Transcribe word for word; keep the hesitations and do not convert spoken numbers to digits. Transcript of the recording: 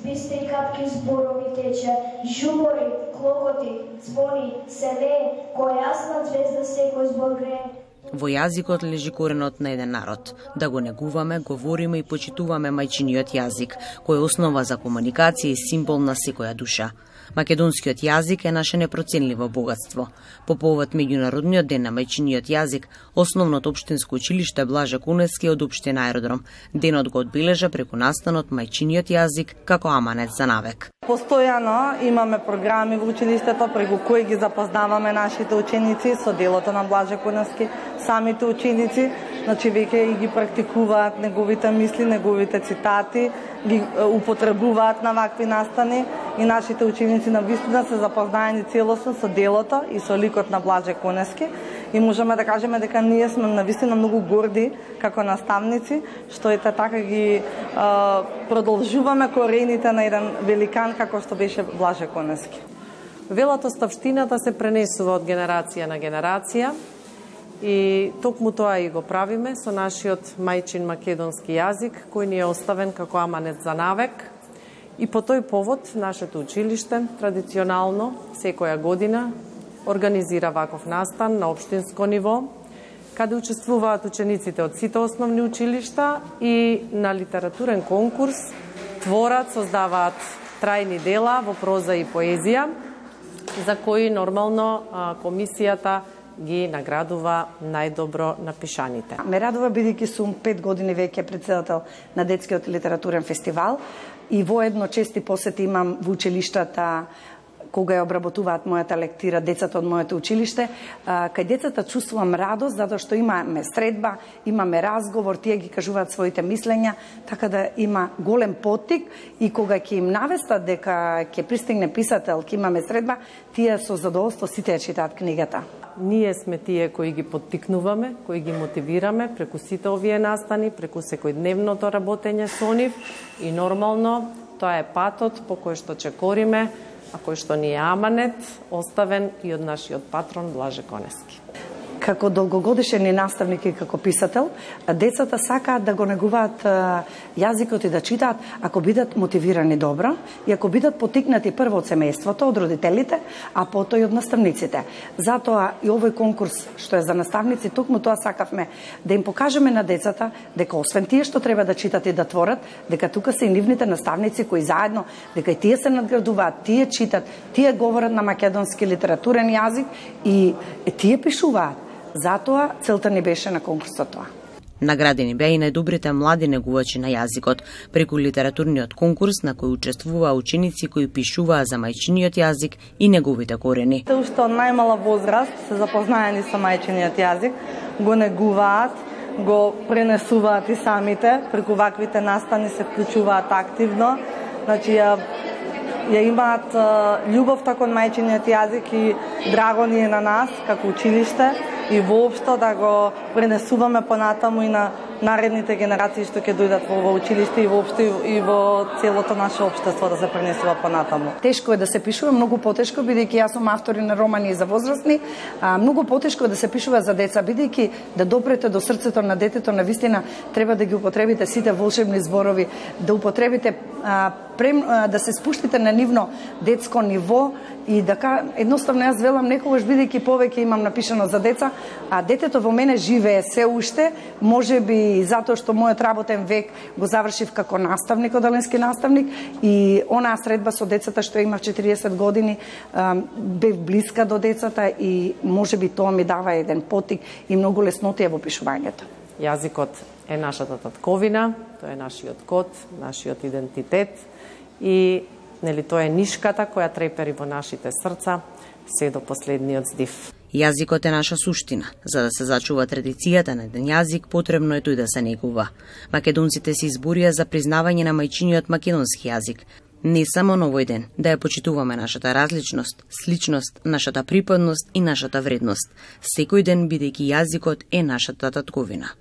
бистри капки зборови тече, жумори, клокоти, звони, се лее, која јасна звезда секој збор грее. Во јазикот лежи коренот на еден народ. Да го негуваме, говориме и почитуваме мајчиниот јазик, кој е основа за комуникација и символ на секоја душа. Македонскиот јазик е наше непроценливо богатство. По повод меѓународниот ден на мајчиниот јазик, основното општинско училиште Блаже Конески од општина Аеродром денот го одбележа преку настанот мајчиниот јазик како аманет за навек. Постојано имаме програми во училиштето преку кои ги запознаваме нашите ученици со делото на Блаже Конески. Самите ученици, значи веќе и ги практикуваат неговите мисли, неговите цитати, ги употребуваат на вакви настани и нашите ученици навистина се запознаени целосно со делото и со ликот на Блаже Конески. И можеме да кажеме дека ние сме навистина многу горди како наставници, што ете така ги е, продолжуваме корените на еден великан како што беше Блаже Конески. Велатоставштината се пренесува од генерација на генерација и токму тоа и го правиме со нашиот мајчин македонски јазик, кој ни е оставен како аманет за навек. И по тој повод нашето училиште традиционално секоја година организира ваков настан на општинско ниво, каде учествуваат учениците од сите основни училишта и на литературен конкурс творат, создаваат трајни дела во проза и поезија, за кои нормално комисијата ги наградува најдобро напишаните. Ме радува бидејќи сум пет години веќе председател на детскиот литературен фестивал и воедно чести посети имам во училиштата кога ја обработуваат мојата лектира децата од моето училиште, кај децата чувствувам радост затоа што имаме средба, имаме разговор, тие ги кажуваат своите мислења, така да има голем поттик и кога ќе им навестат дека ќе пристигне писател, ќе имаме средба, тие со задоволство сите ја читаат книгата. Ние сме тие кои ги поттикнуваме, кои ги мотивираме преку сите овие настани, преку секојдневното работење со нив и нормално тоа е патот по кој што чекориме, а кој што ни е аманет, оставен и од нашиот патрон Блаже Конески. Како долгогодишен и наставник и како писател, децата сакаат да го негуваат јазикот и да читаат ако бидат мотивирани добро и ако бидат потикнати прво од семејството, од родителите, а потоа и од наставниците. Затоа и овој конкурс што е за наставници, токму тоа сакавме да им покажеме на децата дека освен тие што треба да читат и да творат, дека тука се и нивните наставници кои заедно, дека и тие се надградуваат, тие читат, тие говорат на македонски литературен јазик и тие пишуваат. Затоа целта ни беше на конкурсот тоа. Наградени беа и најдобрите млади негувачи на јазикот преку литературниот конкурс на кој учествуваа ученици кои пишуваа за мајчиниот јазик и неговите корени. Се уште од најмала возраст се запознаени со мајчиниот јазик, го негуваат, го пренесуваат и самите, преку ваквите настани се вклучуваат активно, значи ја ја имаат љубовта кон мајчиниот јазик и драго ни е на нас како училиште и воопшто да го пренесуваме понатаму и на наредните генерации што ќе дојдат во ова училиште и воопшто и во целото наше општество да се пренесува понатаму. Тешко е да се пишува, многу потешко бидејќи јас сум автор на романи за возрастни, а многу потешко е да се пишува за деца бидејќи да допрете до срцето на детето, навистина треба да ги употребите сите волшебни зборови, да употребите а, прем, а, да се спуштите на нивно детско ниво и дека едноставно јас велам некогаш бидејќи повеќе имам напишано за деца, а детето во мене живее се уште, можеби затоа што мојот работен век го завршив како наставник, одаленски наставник и онаа средба со децата што имав четириесет години, бев блиска до децата и можеби тоа ми дава еден потик и многу леснотија во пишувањето. Јазикот е нашата татковина, тоа е нашиот код, нашиот идентитет и нели тоа е нишката која трепери во нашите срца се до последниот здив. Јазикот е наша суштина. За да се зачува традицијата на еден јазик, потребно е тој да се негува. Македонците се изборија за признавање на мајчиниот македонски јазик. Не само на овој ден, да ја почитуваме нашата различност, сличност, нашата припадност и нашата вредност. Секој ден бидејќи јазикот е нашата татковина.